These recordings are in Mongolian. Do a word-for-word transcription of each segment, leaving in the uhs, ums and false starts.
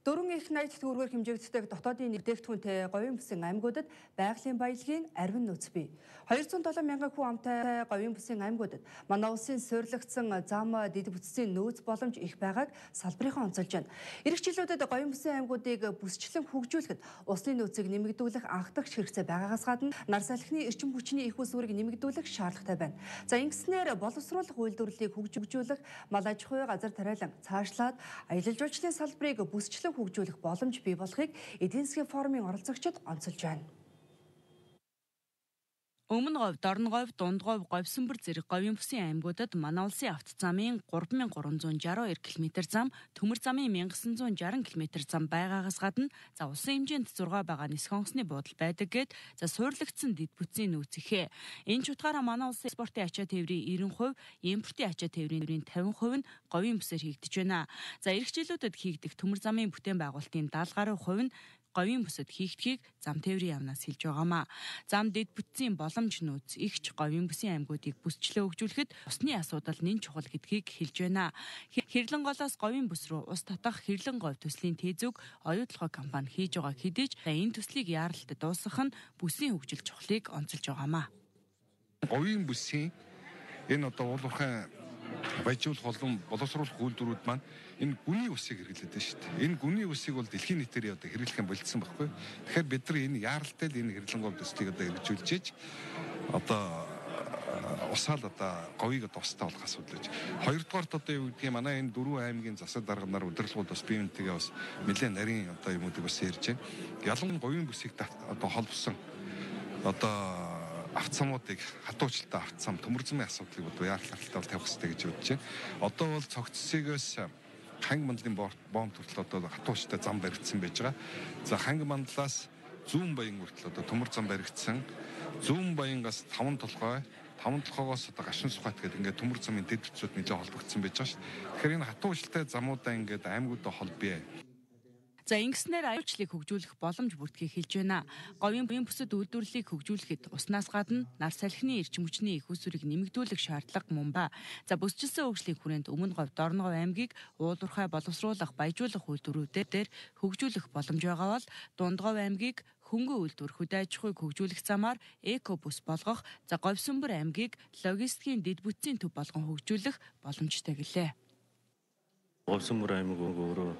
Дөрвөн их найт төгрөгөөр хэмжигддэг дотоодын нэгдээгдэхүүнтэй говийн бүсийн аймагуудад байгалийн баялагын арвин нөөц бий. хоёр зуун долоо мянган хүн амтай говийн бүсийн аймагуудад манай улсын суйрлагдсан зам дэд бүтцийн нөөц боломж их байгааг салбарынхан онцолж байна. Ирэх жилүүдэд говийн бүсийн аймагуудыг бүсчлэн хөгжүүлэхэд усны нөөцийг нэмэгдүүлэх анхдагч хэрэгцээ байгаагаас гадна нар салхины эрчим хүчний их ус үүрэг нэмэгдүүлэх шаардлагатай байна. За ингэснээр боловсруулах үйлдвэрлэлийг хөгжүүлэх, мал аж ахуй, газар тариалан цаашлаад аялал жуулчлалын салбарыг бүсчлэн хөгжүүлэх боломж бий болохыг эдийн засгийн форумын оролцогчид онцолж байна. Өмнө говь, Дорно говь, Дунд говь, Говьсөнбөр зэрэг говийн бүсийн аймагуудад манай улсын автозамын гурван мянган гурван зуун жаргал хоёр километр зам, төмөр замын мянга сан зуун жаргал километр зам байгаагаас гадна за улсын хэмжээнд зургаа байгаа нисэх онгоцны буудал байдаг гэд за суурлагдсан дэд бүтцийн нөөц ихээ. Энэ ч утгаараа манай улсын экспортын ачаа тээврийн нব্бэ хувь, импортын ачаа тээврийн тавин хувь нь говийн бүсээр хийгдэж байна. За ирэх жилүүдэд хийгдэх төмөр замын бүтээн байгуулалтын даатгалын гаруй хувь нь говийн бүсэд хийгдхийг зам тээврийн яамнаас хэлж байгаамаа. Зам дэд бүтцийн боломж нөөц ихч говийн бүсийн аймагуудыг бүсчлээ хөгжүүлэхэд усны асуудал нэн чухал гэдгийг хэлж байна. Хэрлэн голоос говийн бүс рүү ус татах Хэрлэн говь төслийн тээзүүг оюутлогоо компани хийж байгаа хэдий ч энэ төслийг яаралт дуусгах нь бүсийн хөгжил чухлыг онцолж байгаамаа. Говийн бүсийн энэ одоо уулуурхай баяжуулах болон боловсруулах үйлдвэрүүд маань энэ гүний усыг хэрэглэдэг шүү дээ. Энэ гүний усыг бол дэлхийн нийтээр одоо хэрэглэх юм болцсон байхгүй. Тэгэхээр бид нар энэ яаралтай л энэ Хэрлэн говь төслийг одоо хэрэгжүүлж ээж одоо усаал одоо говийг одоо устаа болох асуудал гэж. Хоёрдугаарт одоо юу гэдгийг манай энэ дөрвөн аймгийн засаг дарганаар удирдлагууд бас биентэйгээ бас нэлээд нарийн одоо юмуудыг бас ярьж байна. Ялангуяа говийн бүсийг одоо холбосон одоо автцамуудыг хатуучилтай автцам төмөр замын асуудлыг одоо яаралтай тавих хэрэгтэй гэж бодож байна. Одоо бол цогцсгоос ханги мандлын бомб хүртэл одоо хатуучтай зам баригдсан байж байгаа. За ханги мандлаас зүүн баян хүртэл одоо төмөр зам баригдсан. Зүүн баянгаас таван толгой, таван толгоогоос одоо гашин сухат гэдэг ингээд төмөр замын дэд бүтцүүд нэлээд холбогдсон байж байгаа шүү дээ. Тэгэхээр энэ хатуучтай замуудаа ингээд аймагуудаа холбъё. За ингэснээр аюулчлалыг хөгжүүлэх боломж бүрдгийг хэлж байна. Говийн бүсэд үйлдвэрлэлийг хөгжүүлэхэд уснаас гадна нар салхины эрчим хүчний их усүрийг нэмэгдүүлэх шаардлага мөн ба. За бүсчилсэн хөгжлийн хүрээнд Өмнө говь, Дорно говь аймгийг уулуурхай боловсруулах, баяжуулах үйлдвэрүүдээр хөгжүүлэх боломж байгаа бол Дунд говь аймгийг хөнгөн үйлдвэр, хөдөө аж ахуйг хөгжүүлэх замаар эко бүс болгох, за Говьсөнбөр аймгийг логистикийн дэд бүтцийн төв болгон хөгжүүлэх боломжтой гэлээ. Говьсөнбөр аймаг өөрөө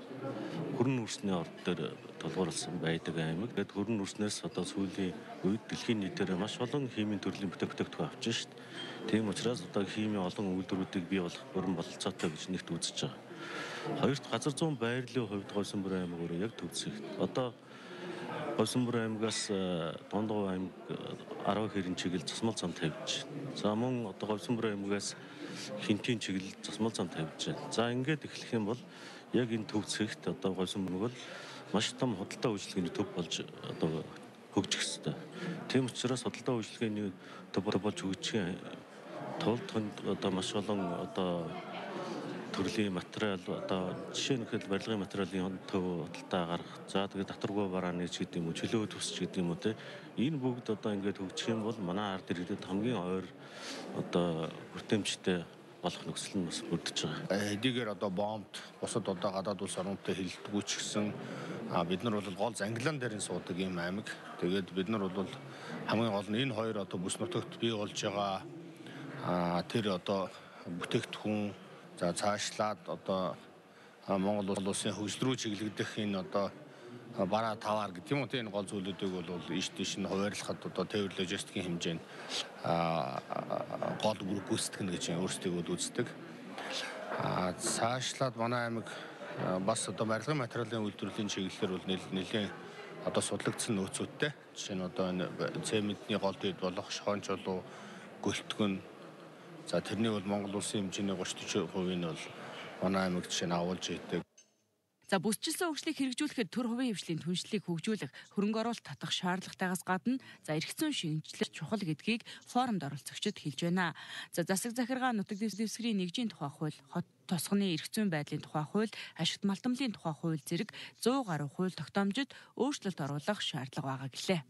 хөрөн үрсний орд дээр толгуурласан байдаг аймаг. Тэгэд хөрөн үрснээс одоо сүүлийн үед дэлхийн нийтээр маш олон химийн төрлийн бүтээгдэхүүн авч шít. Тийм учраас одоо химийн олон үйлдвэрүүдийг бий болох бүрэн бололцоотой гэж нэгт үзэж байгаа. Хоёрт газар зүүн байрлалын хувьд Говьсөнбөр аймаг өөрөө яг төвцөг. Одоо Говьсөнбөр аймагаас Дунд говь аймаг арав хэрэн чиглэл засмал зам тавьж байна. За мөн одоо Говьсөнбөр аймагаас Хинтийн чиглэл засмал зам тавьж байна. За ингээд эхлэх юм бол яг энэ төв зэгт одоо Говьсөнбөр бол маш том худалдаа үйлчилгээний төв болж одоо хөгжих ёстой. Тийм учраас худалдаа үйлчилгээний төв болж хөгжих тулд одоо маш олон одоо төрлийн материал одоо жишээ нь хэд барилгын материалын төв худалдаа гаргах. За тэгээд татваргүй барааны ч гэдэг юм уу, чөлөө төс ч гэдэг юм уу те. Энэ бүгд одоо ингээд хөгжих юм бол манай ард иргэдэд хамгийн ойр одоо хүртээмжтэй болох нөхцөл нь бас бүрдэж байгаа. Хэдийгээр одоо бомбд бусад одоо гадаад улс орнуудтай хилдэггүй ч гэсэн бид нар бол гол Англиан дээр нь суудаг юм аймаг. Тэгээд бид нар бол хамгийн гол нь энэ хоёр одоо бүс нутагт бий болж байгаа тэр одоо бүтээгдэхүүн за цаашлаад одоо Монгол улсын хөгжил рүү чиглэгдэх энэ одоо бараа таваар гэдэг юм уу тийм гол зүйлүүдийг бол иш тийш нь хуваарлахад одоо тээвэр логистикийн хэмжээнд гол бүрэг гүйцэтгэх гэж өөрсдөө үздэг. Цаашлаад манай аймаг бас одоо барилгын материалын үйлдвэрлэлийн чиглэлээр бол нэлээд одоо судлагдсан нөөцүүдтэй. Жишээ нь одоо энэ цементний гол дэд болох шохоон чулуу, гөлтгөн. За тэрний бол Монгол улсын хэмжээний гуравч дөрвөн хувийг нь бол манай аймагт жишээ нь агуулж идэг. За бүсчилсэн хөгжлийг хэрэгжүүлэхэд төр хувийн хвшлийн түншлэлийг хөгжүүлэх, хөрөнгө оруулалт татах шаардлагатайгаас гадна за эрх зүйн шинжилгээ чухал гэдгийг форумд оролцогчид хэлж байна. За засаг захиргаа нутаг дэвсгэрийн нэгжийн тухай хууль, хот тосгоны эрх зүйн байдлын тухай хууль, ашигт малтамлын тухай хууль зэрэг зуун гаруй хууль тогтоомжид өөрчлөлт оруулах шаардлага байгаа гэлээ.